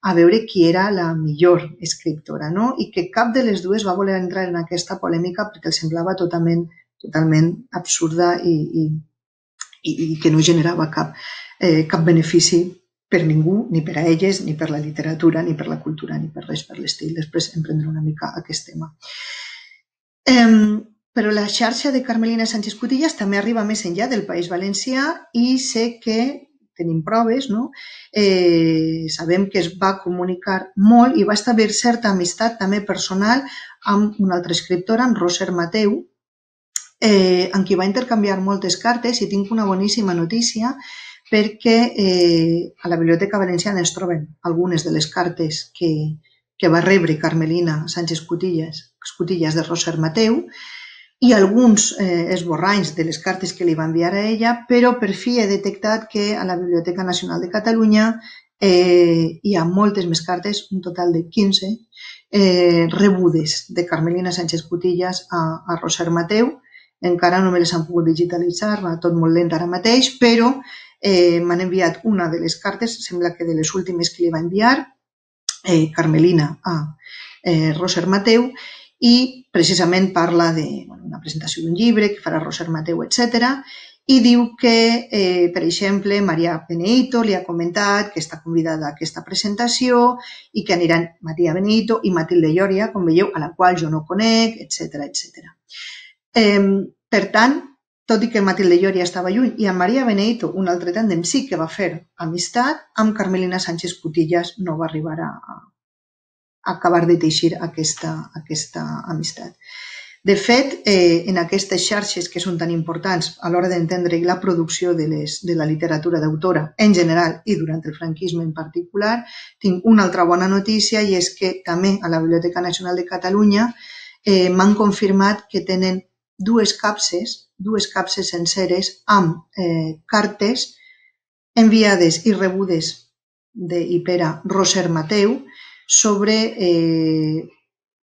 a veure qui era la millor escriptora, no? I que cap de les dues va voler entrar en aquesta polèmica perquè els semblava totalment, totalment absurda i, i, i que no generava cap, eh, cap benefici per ningú, ni per a elles, ni per la literatura, ni per la cultura, ni per res, per l'estil. Després em prendré una mica aquest tema. Eh, però la xarxa de Carmelina Sánchez Cutillas també arriba més enllà del País Valencià i sé que tenim proves, no? Eh, sabem que es va comunicar molt i va establir certa amistat també personal amb una altra escriptora, amb Roser Mateu, eh, amb qui va intercanviar moltes cartes i tinc una boníssima notícia perquè eh, a la Biblioteca Valenciana es troben algunes de les cartes que, que va rebre Carmelina Sánchez Cutillas, Cutillas de Roser Mateu i alguns eh, esborranys de les cartes que li va enviar a ella, però per fi he detectat que a la Biblioteca Nacional de Catalunya eh, hi ha moltes més cartes, un total de quinze, eh, rebudes de Carmelina Sánchez Cutillas a, a Roser Mateu. Encara no me les han pogut digitalitzar, va tot molt lent ara mateix, però eh, m'han enviat una de les cartes, sembla que de les últimes que li va enviar, eh, Carmelina a eh, Roser Mateu, i precisament parla d'una presentació d'un llibre que farà Roser Mateu, etcètera, i diu que, eh, per exemple, Maria Beneito li ha comentat que està convidada a aquesta presentació i que aniran Maria Beneito i Matilde Lloria, com veieu, a la qual jo no conec, etcètera, etcètera. Eh, per tant, tot i que Matilde Lloria estava lluny i amb Maria Beneito, un altre tàndem sí que va fer amistat, amb Carmelina Sánchez Cutillas no va arribar a, a acabar de teixir aquesta, aquesta amistat. De fet, eh, en aquestes xarxes que són tan importants a l'hora d'entendre la producció de, les, de la literatura d'autora en general i durant el franquisme en particular, tinc una altra bona notícia i és que també a la Biblioteca Nacional de Catalunya eh, m'han confirmat que tenen dues capses, dues capses senceres amb eh, cartes enviades i rebudes de, i per a Roser Mateu sobre eh,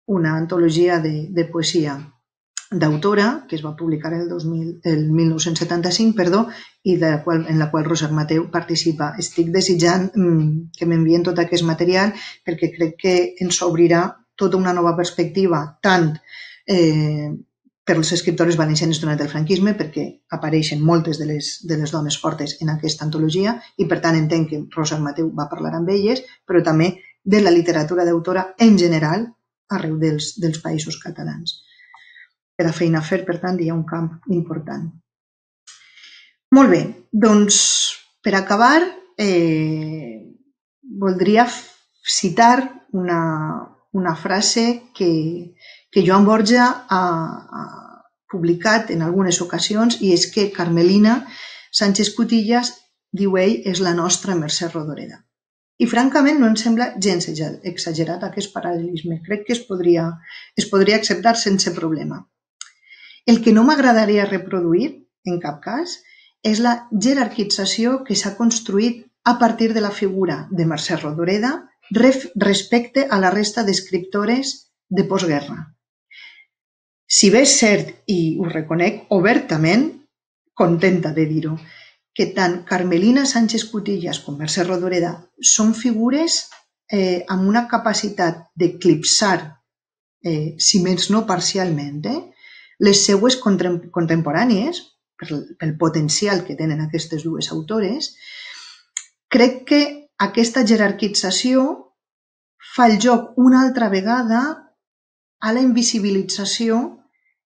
una antologia de, de poesia d'autora que es va publicar el, dos mil, el mil nou-cents setanta-cinc perdó, i de la qual, en la qual Roser Mateu participa. Estic desitjant mm, que m'envien tot aquest material perquè crec que ens obrirà tota una nova perspectiva tant eh, per les escriptores valencianes durant el franquisme, perquè apareixen moltes de les, de les dones fortes en aquesta antologia i per tant entenc que Roser Mateu va parlar amb elles, però també de la literatura d'autora en general arreu dels, dels països catalans. Per a feina a fer, per tant, hi ha un camp important. Molt bé, doncs per acabar eh, voldria citar una, una frase que que Joan Borja ha, ha publicat en algunes ocasions i és que Carmelina Sánchez Cutillas, diu ell, és la nostra Mercè Rodoreda. I francament no em sembla gens exagerat aquest paral·lelisme. Crec que es podria, es podria acceptar sense problema. El que no m'agradaria reproduir, en cap cas, és la jerarquització que s'ha construït a partir de la figura de Mercè Rodoreda respecte a la resta d'escriptores de postguerra. Si bé és cert, i ho reconec obertament, contenta de dir-ho, que tant Carmelina Sánchez Cutillas com Mercè Rodoreda són figures eh, amb una capacitat d'eclipsar, eh, si més no parcialment, eh, les seues contemporànies, pel potencial que tenen aquestes dues autores, crec que aquesta jerarquització fa el joc una altra vegada a la invisibilització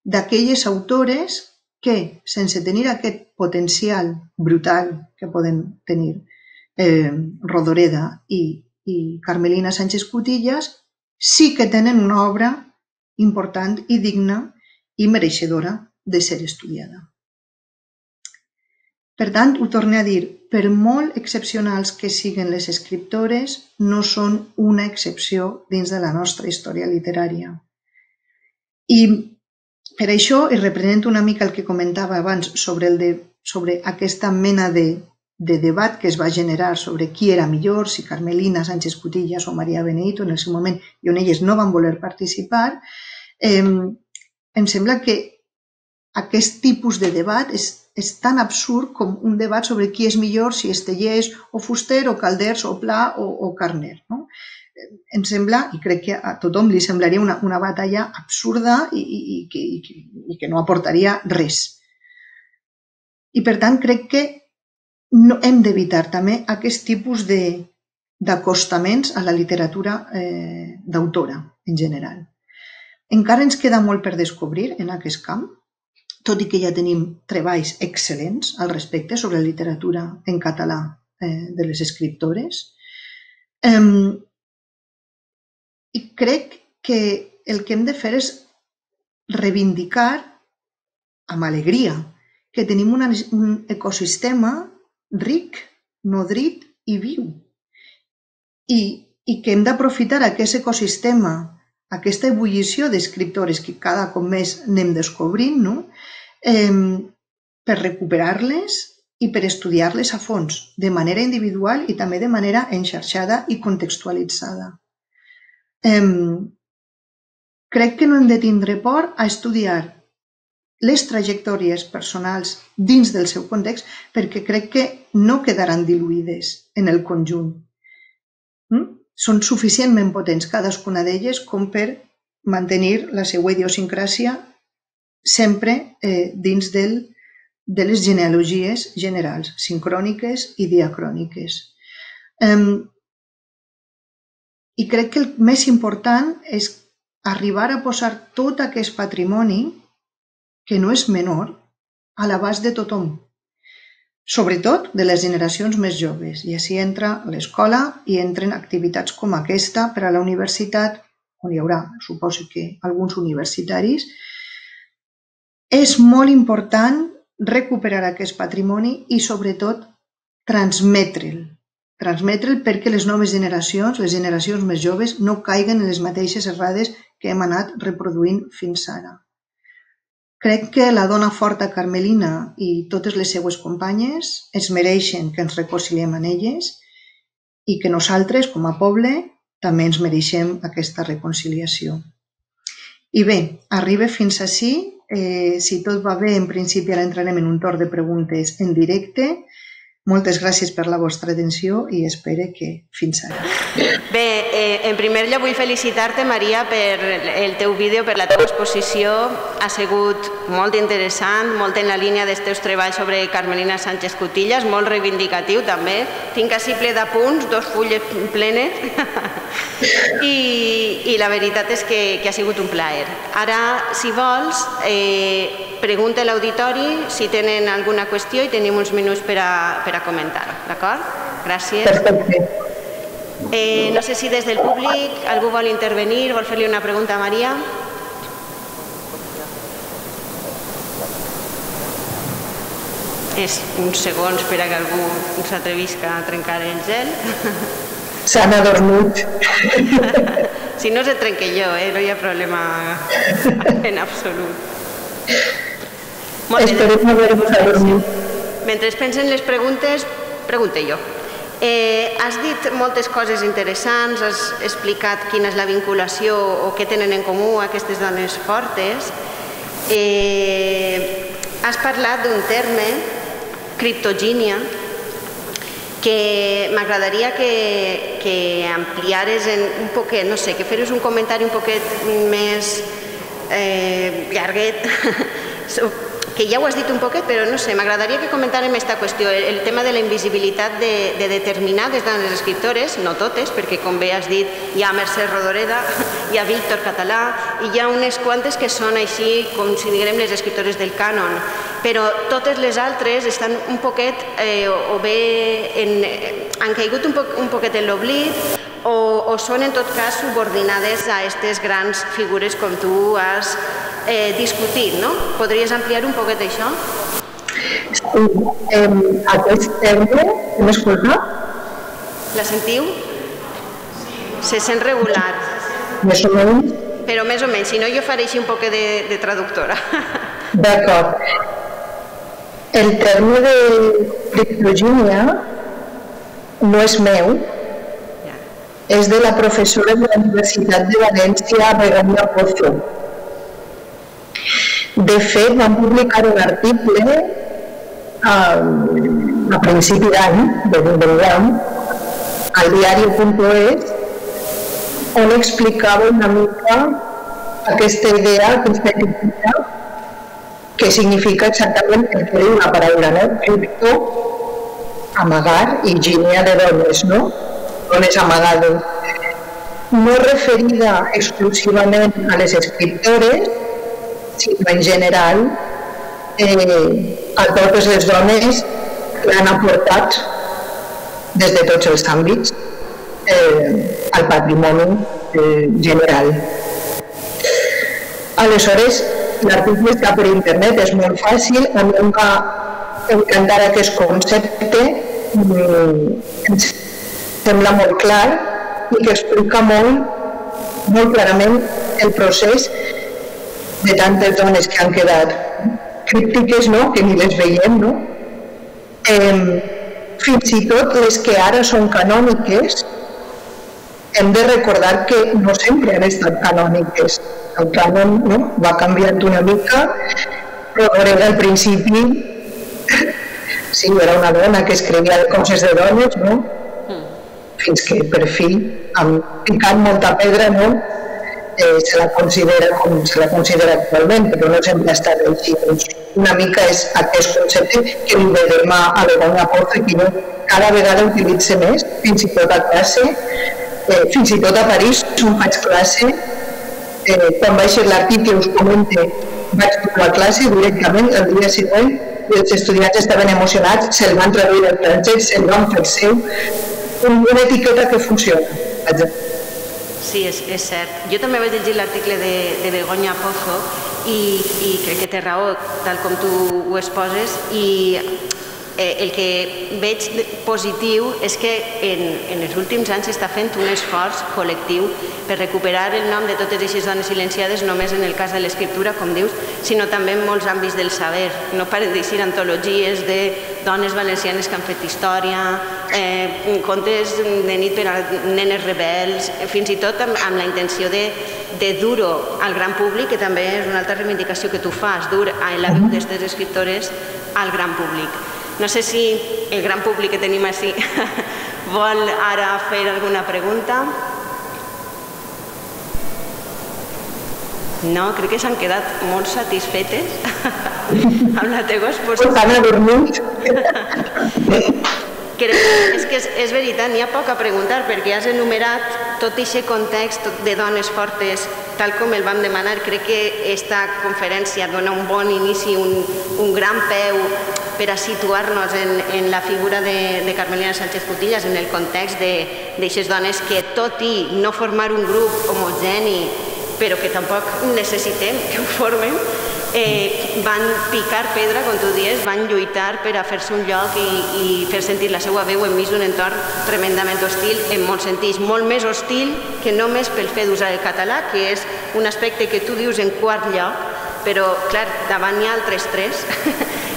d'aquelles autores que, sense tenir aquest potencial brutal que poden tenir eh, Rodoreda i, i Carmelina Sánchez Cutillas, sí que tenen una obra important i digna i mereixedora de ser estudiada. Per tant, ho torno a dir, per molt excepcionals que siguin les escriptores, no són una excepció dins de la nostra història literària. I per això, i reprenent una mica el que comentava abans sobre, el de, sobre aquesta mena de, de debat que es va generar sobre qui era millor, si Carmelina Sánchez Cutillas o Maria Beneito en el seu moment, i on elles no van voler participar, eh, em sembla que aquest tipus de debat és, és tan absurd com un debat sobre qui és millor, si Estellés o Fuster o Calders o Pla o, o Carner, no? Em sembla, i crec que a tothom li semblaria una, una batalla absurda i, i, i, que, i, que, i que no aportaria res. I per tant crec que no, hem d'evitar també aquest tipus d'acostaments a la literatura eh, d'autora en general. Encara ens queda molt per descobrir en aquest camp, tot i que ja tenim treballs excel·lents al respecte sobre literatura en català eh, de les escriptores. Eh, I crec que el que hem de fer és reivindicar amb alegria que tenim una, un ecosistema ric, nodrit i viu. I, i que hem d'aprofitar aquest ecosistema aquesta ebullició d'escriptores que cada cop més anem descobrint, no? eh, per recuperar-les i per estudiar-les a fons, de manera individual i també de manera enxarxada i contextualitzada. Eh, crec que no hem de tindre por a estudiar les trajectòries personals dins del seu context perquè crec que no quedaran diluïdes en el conjunt. Mm? Són suficientment potents cadascuna d'elles com per mantenir la seva idiosincràsia sempre eh, dins del, de les genealogies generals, sincròniques i diacròniques. Um, I crec que el més important és arribar a posar tot aquest patrimoni, que no és menor, a l'abast de tothom, sobretot de les generacions més joves. I així entra l'escola i entren activitats com aquesta per a la universitat, on hi haurà, suposo que, alguns universitaris. És molt important recuperar aquest patrimoni i, sobretot, transmetre'l. Transmetre'l perquè les noves generacions, les generacions més joves, no caiguen en les mateixes errades que hem anat reproduint fins ara. Crec que la dona forta carmelina i totes les seues companyes es mereixen que ens reconciliem en elles i que nosaltres, com a poble, també ens mereixem aquesta reconciliació. I bé, arriba fins ací. Eh, si tot va bé, en principi ara entrarem en un torn de preguntes en directe. Moltes gràcies per la vostra atenció i espero que fins ara. Bé, eh, en primer lloc vull felicitar-te, Maria, per el teu vídeo, per la teva exposició. Ha sigut molt interessant, molt en la línia dels teus treballs sobre Carmelina Sánchez Cutillas, molt reivindicatiu també. Tinc així ple d'apunts, dos fulles plenes. I, I la veritat és que, que ha sigut un plaer. Ara, si vols, eh, pregunta a l'auditori si tenen alguna qüestió i tenim uns minuts per a, per a comentar-ho, d'acord? Gràcies. Perfecte. Eh, no sé si des del públic algú vol intervenir, vol fer-li una pregunta a Maria. És uns segons per a que algú s'atrevisca a trencar el gel. S'han adormit. Si no se trenque jo, eh? No hi ha problema en absolut. Esperem haver-vos adormit. Mentre pensen les preguntes, pregunte jo. Eh, has dit moltes coses interessants, has explicat quina és la vinculació o què tenen en comú aquestes dones fortes. Eh, has parlat d'un terme, criptogínia, que m'agradaria que, que ampliares en un poquet, no sé, que feres un comentari un poquet més eh, llarguet, que ja ho has dit un poquet, però no sé, m'agradaria que comentàrem aquesta qüestió, el tema de la invisibilitat de, de determinades dones escriptores, no totes, perquè com bé has dit, hi ha Mercè Rodoreda, hi ha Víctor Català, i hi ha unes quantes que són així, com si diguem les escriptores del cànon, però totes les altres estan un poquet, eh, o bé en, han caigut un, po un poquet en l'oblit, o, o són en tot cas subordinades a aquestes grans figures com tu has eh, discutit, no? Podries ampliar un poquet això? Sí, eh, aquest terme, m'escolta? La sentiu? Se sent regular. Més o menys? Però més o menys, si no jo faré així un poquet de, de traductora. D'acord. El terme de criptogínia no és meu, és de la professora de la Universitat de València, Begoña Pozo. De fet, vam publicar un article a, a principi d'any, d'enguany, al diari punt es, on explicava una mica aquesta idea, aquesta etiqueta, que significa exactament el que diu la paraula, no? Cripto, amagar, i gínia de dones, no? Dones amagades. No referida exclusivament a les escriptores, sinó en general eh, a totes les dones que han aportat des de tots els àmbits eh, al patrimoni eh, general. Aleshores, l'article està per internet, és molt fàcil, a mi em va encantar aquest concepte, em sembla molt clar i que explica molt, molt clarament el procés de tantes dones que han quedat críptiques, no? Que ni les veiem, no? Eh, fins i tot les que ara són canòniques, hem de recordar que no sempre han estat canòniques. El cànon, no? Va canviant una mica, però al principi sí, era una dona que escrivia coses de dones, no? Fins que per fi, amb picant molta pedra, no? Eh, se la considera com se la considera actualment, però no sempre ha estat així. Doncs una mica és aquest concepte que li vedem a Begoña Pozo, que jo cada vegada utilitzo més, fins i tot a classe, eh, fins i tot a París, on faig classe, eh, quan vaig a l'article us comente, vaig a la classe directament, el dia següent, els estudiants estaven emocionats, se'l van traduir al francès, se'l van fer seu, una etiqueta que funciona. Sí, és, és cert. Jo també vaig llegir l'article de, de Begoña Pozo i, i crec que té raó, tal com tu ho exposes, i eh, el que veig positiu és que en, en els últims anys s'està fent un esforç col·lectiu per recuperar el nom de totes aquestes dones silenciades, només en el cas de l'escriptura, com dius, sinó també en molts àmbits del saber. No paren d'eixir antologies de dones valencianes que han fet història, eh, contes de nit per a nenes rebels, fins i tot amb, amb la intenció de, de dur-ho al gran públic, que també és una altra reivindicació que tu fas, dur a la veu d'aquestes escriptores al gran públic. No sé si el gran públic que tenim així vol ara fer alguna pregunta. No, crec que s'han quedat molt satisfetes amb la teva exposició. Estan adormits. És que és, és veritat, n'hi ha poc a preguntar, perquè has enumerat tot aquest context de dones fortes, tal com el vam demanar. Crec que aquesta conferència dona un bon inici, un, un gran peu per a situar-nos en, en la figura de, de Carmelina Sánchez Cutillas, en el context d'aquestes dones que, tot i no formar un grup homogeni, però que tampoc necessitem que ho formen, eh, van picar pedra, com tu dius, van lluitar per a fer-se un lloc i, i fer sentir la seva veu enmig d'un entorn tremendament hostil, en molts sentits, molt més hostil que només pel fet d'usar el català, que és un aspecte que tu dius en quart lloc, però, clar, davant hi ha altres tres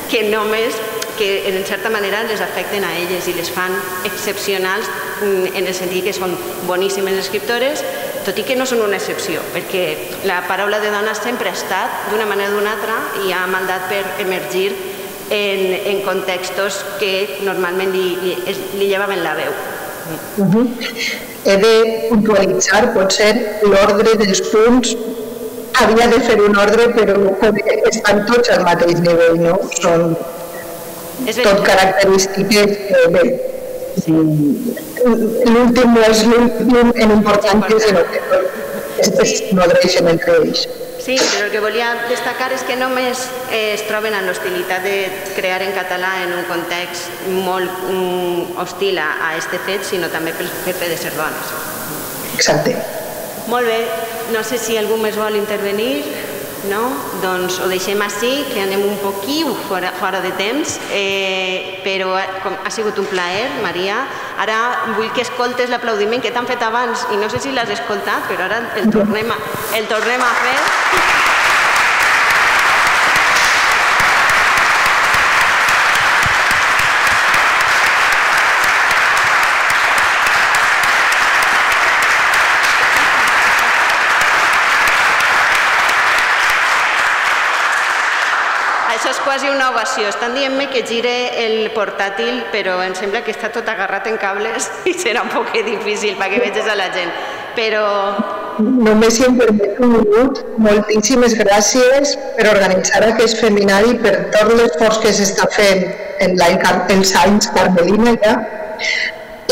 que només, que en certa manera les afecten a elles i les fan excepcionals en el sentit que són boníssimes escriptores, tot i que no són una excepció, perquè la paraula de dona sempre ha estat, d'una manera o d'una altra, i ha mandat per emergir en, en contextos que normalment li, li, li llevaven la veu. Uh -huh. He de puntualitzar, potser, l'ordre dels punts. Havia de fer un ordre, però estan tots al mateix nivell, no? Són tot característiques que, bé, l'últim no és l'últim en importància, sinó que es nodreixen entre ells. Sí, però el que volia destacar és que només es troben en l'hostilitat de crear en català en un context molt hostil a aquest fet, sinó també pel fet de ser dones. Exacte. Molt bé, no sé si algú més vol intervenir. No? Doncs ho deixem així, que anem un poquí fora, fora de temps, eh, però com, ha sigut un plaer, Maria. Ara vull que escoltes l'aplaudiment que t'han fet abans i no sé si l'has escoltat, però ara el tornem a, el tornem a fer. Això és quasi una ovació. Estan dient-me que gire el portàtil, però em sembla que està tot agarrat en cables i serà un poc difícil perquè veges a la gent. Però... Només si em permet un minut, moltíssimes gràcies per organitzar aquest feminari, per tot l'esforç que s'està fent en els anys Carmelina ja,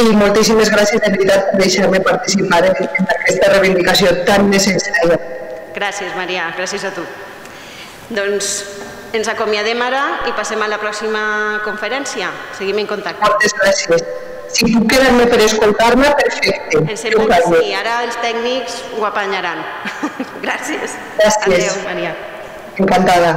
i moltíssimes gràcies de veritat per deixar-me participar en aquesta reivindicació tan necessària. Gràcies, Maria, gràcies a tu. Doncs ens acomiadem ara i passem a la pròxima conferència. Seguim en contacte. Moltes gràcies. Si puc quedar-me per escoltar-me, perfecte. Em sembla que sí, ara els tècnics ho apanyaran. Gràcies. Gràcies. Adéu, Maria. Encantada.